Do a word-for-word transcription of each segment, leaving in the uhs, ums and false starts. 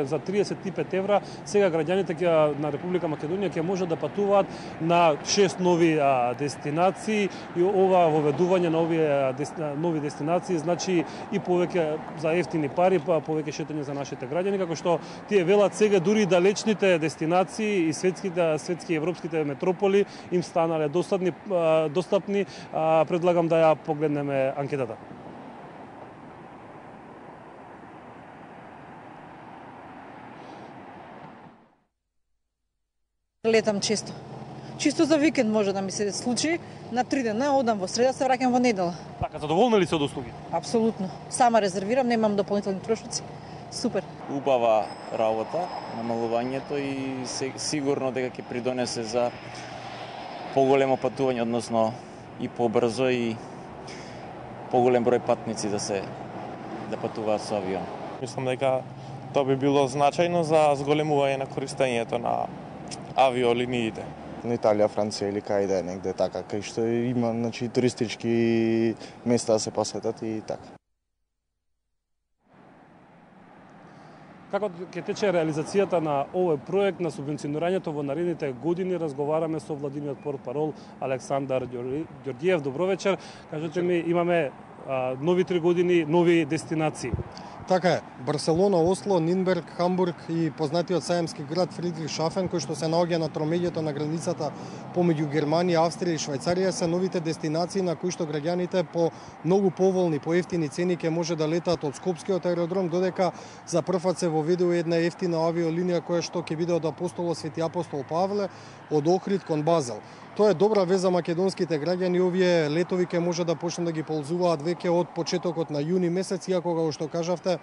За триесет и пет евра сега граѓаните на Република Македонија ќе можат да патуваат на шест нови а, дестинации и ова воведување на овие дести, нови дестинации значи и повеќе за ефтини пари, па повеќе шетање за нашите граѓани, како што тие велат сега дури далечните дестинации и светските светски и европските метрополи им станале достапни достапни. Предлагам да ја погледнеме анкетата. Летам често. Чисто за викенд може да ми се случи. На три дена одам во среда, се враќам во недела. Така, задоволна ли се од услуги? Апсолутно. Сама резервирам, немам дополнителни трошоци. Супер. Убава работа, намалувањето и сигурно дека ќе придонесе за поголемо патување, односно и побрзо и поголем број патници да се да патуваат со авион. Мислам дека тоа би било значајно за зголемување на користењето на авиолиниите. На Италија, Франција или кај да е негде така, кај што има значи туристички места да се посетат и така. Како ќе тече реализацијата на овој проект на субвенционирањето во наредните години, разговараме со владиниот портпарол Александар Ѓорѓиев. Добро вечер. Кажете ми, имаме а, нови три години, нови дестинации. Така е. Барселона, Осло, Нинберг, Хамбург и познатиот саемски град Фридрихшафен, кој што се наоѓа на тромеѓето на границата помеѓу Германија, Австрија и Швајцарија, се новите дестинации на кои што граѓаните по многу поволни, по ефтини цени ќе може да летаат од Скопскиот аеродром, додека за прв пат се воведува една ефтина авиолинија која што ќе биде од Апостолот Свети Апостол Павле од Охрид кон Базел. Тоа е добра вест за македонските граѓани, овие летови ќе може да почнат да ги ползуваат веќе од почетокот на јуни месец, иако како што кажавте,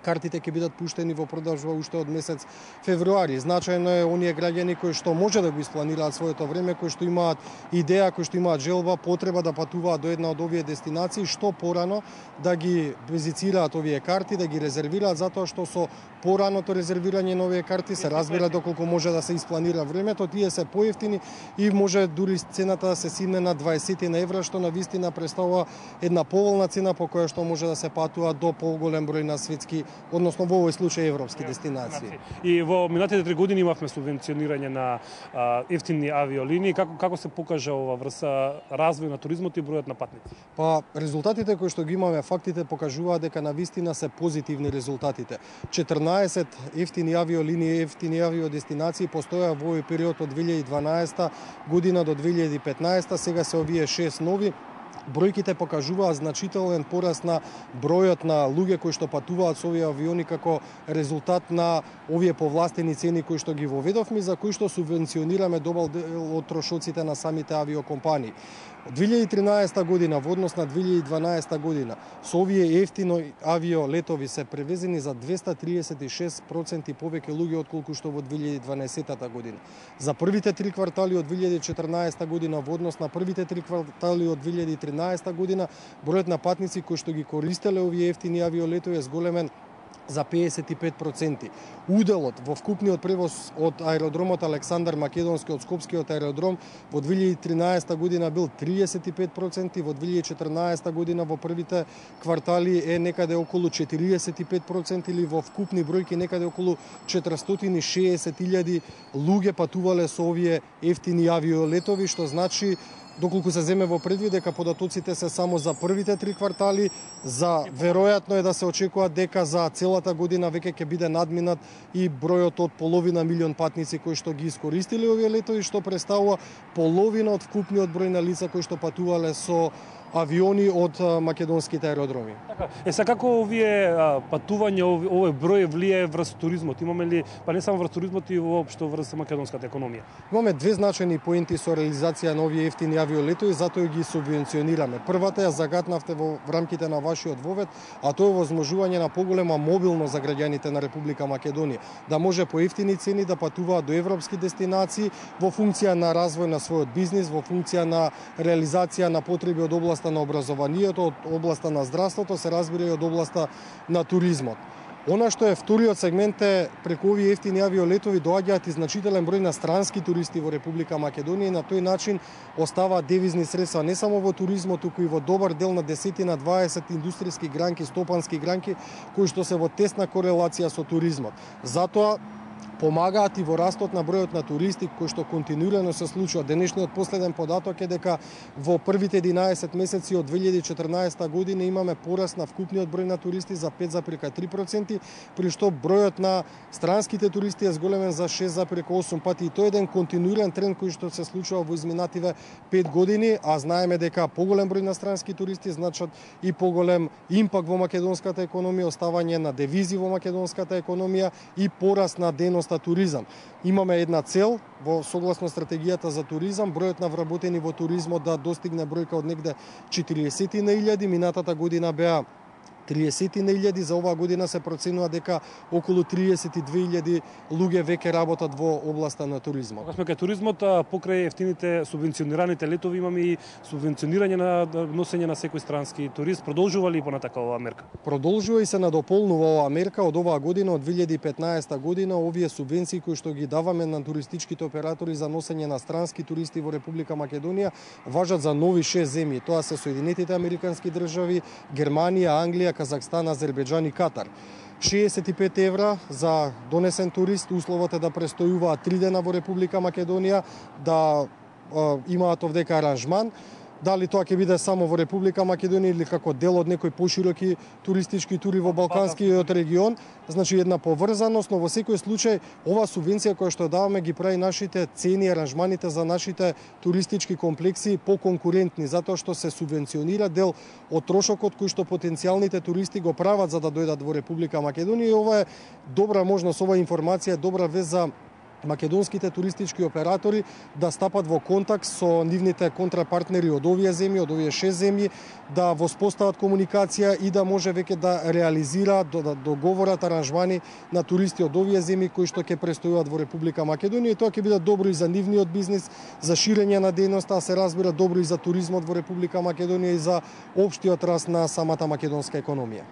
картите ќе бидат пуштени во продажба уште од месец февруари. Значајно е оние граѓани кои што може да го испланираат своето време, кои што имаат идеја, кои што имаат желба, потреба да патуваат до една од овие дестинации, што порано да ги визицираат овие карти, да ги резервираат, затоа што со пораното резервирање на овие карти се разбира доколку може да се испланира времето, тие се поевтини и може дури цената да се симне на дваесет евра, што на вистина представува една поволна цена по која што може да се патува до поголем број на светски, односно во овој случај европски дестинации. И во минатите три години имавме субвенционирање на а, ефтини авиолинии. Како како се покажа ова врса развој на туризмот и бројот на патници? Па резултатите кои што ги имаме, фактите покажуваат дека на вистина се позитивни резултатите. четрнаесет ефтини авиолинии, ефтини авиодестинации постоја во овој период од две илјади и дванаесета година до две илјади и петнаесета, сега се овие шест нови. Бројките покажуваат значителен пораст на бројот на луѓе кои што патуваат со овие авиони како резултат на овие повластени цени кои што ги воведовме, за кои што субвенционираме добар дел од трошоците на самите авиокомпании. Од две илјади и тринаесета година во однос на две илјади и дванаесета година со овие ефтино авиолетови се превезени за двеста триесет и шест проценти повеќе луѓе отколку што во две илјади и дванаесета година. За првите три квартали од две илјади и четрнаесета година во однос на првите три квартали од две илјади и тринаесета година, бројот на патници кои што ги користеле овие ефтини авиолетови е зголемен за педесет и пет проценти. Уделот во вкупниот превоз од аеродромот Александар Македонски од Скопскиот аеродром во две илјади и тринаесета година бил триесет и пет проценти, во две илјади и четрнаесета година во првите квартали е некаде околу четириесет и пет проценти или во вкупни бројки некаде околу четиристотини и шеесет илјади луѓе патувале со овие ефтини авиолетови, што значи доколку се земе во предвид дека податоците се само за првите три квартали, за веројатно е да се очекува дека за целата година веќе ќе биде надминат и бројот од половина милион патници кои што ги искористиле овие летови, што представува половина од вкупниот број на лица кои што патувале со авиони од македонските аеродроми. Така, е са како овие а, патување, овој број влијае врз туризмот? Имаме ли, па не само врз туризмот, и воопшто врз македонската економија? Имаме две значајни поенти со реализација на овие ефтини авиолетови, затоа ги субвенционираме. Првата ја загатнавте во рамките на вашиот вовед, а тоа е возможување на поголема мобилност за граѓаните на Република Македонија, да може по ефтини цени да патуваат до европски дестинации во функција на развој на својот бизнис, во функција на реализација на потреби од област на образованието, од областа на здравството, се разбира и од областа на туризмот. Она што е вториот сегмент е преку овие ефтини авиолетови доаѓаат и значителен број на странски туристи во Република Македонија и на тој начин оставаат девизни средства не само во туризмот, туку и во добар дел на десетина дваесет индустријски гранки, стопански гранки кои што се во тесна корелација со туризмот. Затоа помагаат и во растот на бројот на туристи кој што континуирано се случува. Денешниот последен податок е дека во првите единаесет месеци од две илјади и четрнаесета година имаме пораст на вкупниот број на туристи за пет зарез три проценти, при што бројот на странските туристи е зголемен за шест зарез осум пати. И тоа е еден континуиран тренд кој што се случува во изминативе пет години, а знаеме дека поголем број на странски туристи значат и поголем импакт во македонската економија, оставање на девизи во македонската економија и пораст на дејноста туризам. Имаме една цел во согласно стратегијата за туризам, бројот на вработени во туризмот да достигне бројка од негде четириесет илјади, минатата година беа триесет илјади, за оваа година се проценува дека околу триесет и две илјади луѓе веќе работат во областа на туризмот. Кога сме кај туризмот, покрај ефтините субвенционираните летови имаме и субвенционирање на носење на секој странски турист. Продолжува ли понатака оваа мерка? Продолжува и се надополнува оваа мерка од оваа година, од две илјади и петнаесета година, овие субвенции кои што ги даваме на туристичките оператори за носење на странски туристи во Република Македонија важат за нови шест земји. Тоа се Соединетите Американски држави, Германија, Англија, Казахстан, Азербејџан и Катар. шеесет и пет евра за донесен турист, условот е да престојуваат три дена во Република Македонија, да е, имаат овдека аранжман. Дали тоа ќе биде само во Република Македонија или како дел од некои пошироки туристички тури во Балканскиот регион, значи една поврзаност, но во секој случај ова субвенција која што даваме ги прави нашите цени, аранжманите за нашите туристички комплекси поконкурентни, затоа што се субвенционира дел од трошокот кој што потенцијалните туристи го прават за да дојдат во Република Македонија, и ова е добра можност, ова информација е добра вест за македонските туристички оператори да стапат во контакт со нивните контрапартнери од овие земји, од овие шест земји, да воспостават комуникација и да може веќе да реализираат, да договорат аранжмани на туристи од овие земји кои што ќе престојуваат во Република Македонија, и тоа ќе биде добро и за нивниот бизнис, за ширење на дејноста, а се разбира добро и за туризмот во Република Македонија и за општиот раст на самата македонска економија.